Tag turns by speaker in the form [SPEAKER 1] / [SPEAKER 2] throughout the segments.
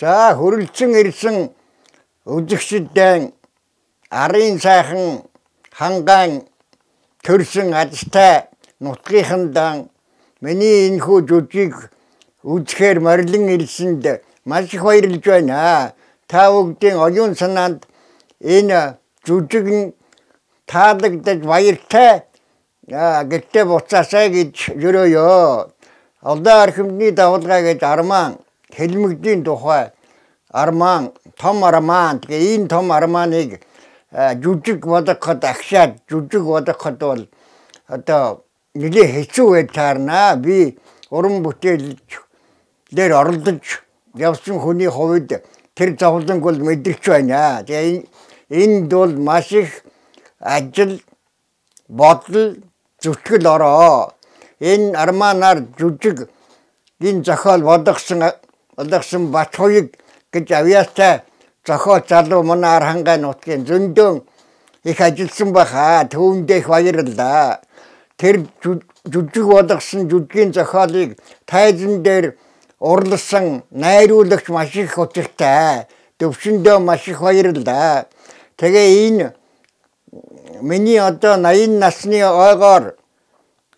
[SPEAKER 1] За хөрөлцөн ирсэн үзэгчдийн арын сайхан хангаан төрсөн азтай нутгийнхандан миний энэхүү жүжиг үзэхээр морилон ирсэнд маш их баярлж байна. Та бүгдийн оюун санаанд энэ жүжиг нь таалагдаж баяртай гэтээ буцаасаа гэж ерөөё. Олон архимны давалгаа гэж арман хэлмэгдийн тухай арман том арман тэгээ энэ том арманыг жүжиг бодоход агшаад жүжиг бодоход бол одоо нэлээ хэцүү байж таарна. Би уран бүтээл дээр оролдож явсан хүний хувьд тэр зовлонг бол мэдэрч байна. Тэгээ энд бол маш их ажил бодол зүтгэл ороо. Энэ арманаар жүжиг энэ зохиол болгосон Батхуйг гэж авьяастай зохиол залуу манай Архангай нутгийн зөндөө их ажилласан баха. Түүндээ их баярлалаа. Тэр жүжиг болгосон жүжигийн зохиолыг тайзан дээр урласан найруулагч маш их учиртай. Төвшөндөө маш их баярлалаа. Тэгээ энэ миний одоо 80 насны ойгоор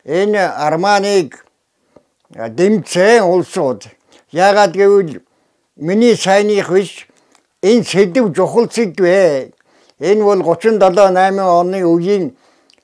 [SPEAKER 1] энэ арманыг дэмцэн улсууд яагаад гэвэл миний сайных биш энэ сэдв чухал сэдвээ. Энэ бол 37-8 оны үеийн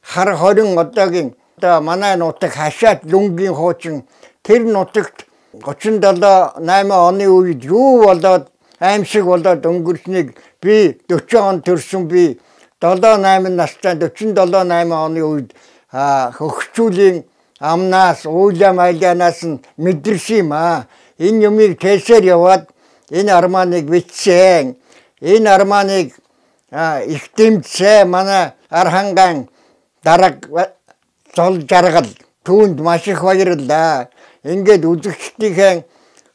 [SPEAKER 1] хар хорин одоогийн одоо манай нутаг хашаат лүнгийн хуучин тэр нутагт 37-8 оны үед юу болоод аимшиг болоод өнгөрснийг би 40 он төрсөн би 7-8 настай 47-8 оны үед хөгжүүлийн амнаас уулам айлянаас нь мэдэрсэн юм аа. Энэ юмыг тээсээр яваад энэ арманыг бичсэн. Энэ арманыг их дэмжсэн манай Архангай дарга зол жаргал түүнд маш их баярлалаа. Ингээд үзэгчдийн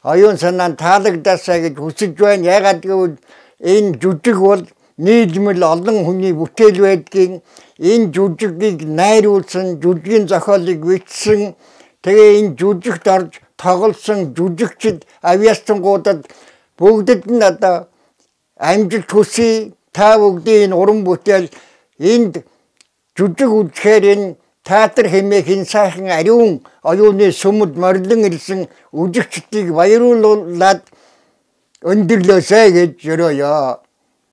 [SPEAKER 1] оюун санаанд таалагдасаа гэж хүсэж байна. Ягаад гэвэл энэ жүжиг бол нийлмэл олон хүний бүтээл байдгийг энэ жүжигийг найруулсан жүжигийн зохиолыг бичсэн. Тэгээ энэ жүжигт орж тоглосон жүжигчид авьяастангуудад бүгдэд нь одоо амжилт хүсье. Та бүгдийн энэ уран бүтээл энд жүжиг үзэхээр энэ театр хэмээх энэ сайхан ариун оюуны сүмд морилон ирсэн үзэгчдийг баяруулаад өндөрлөөсэй гэж ерөөё.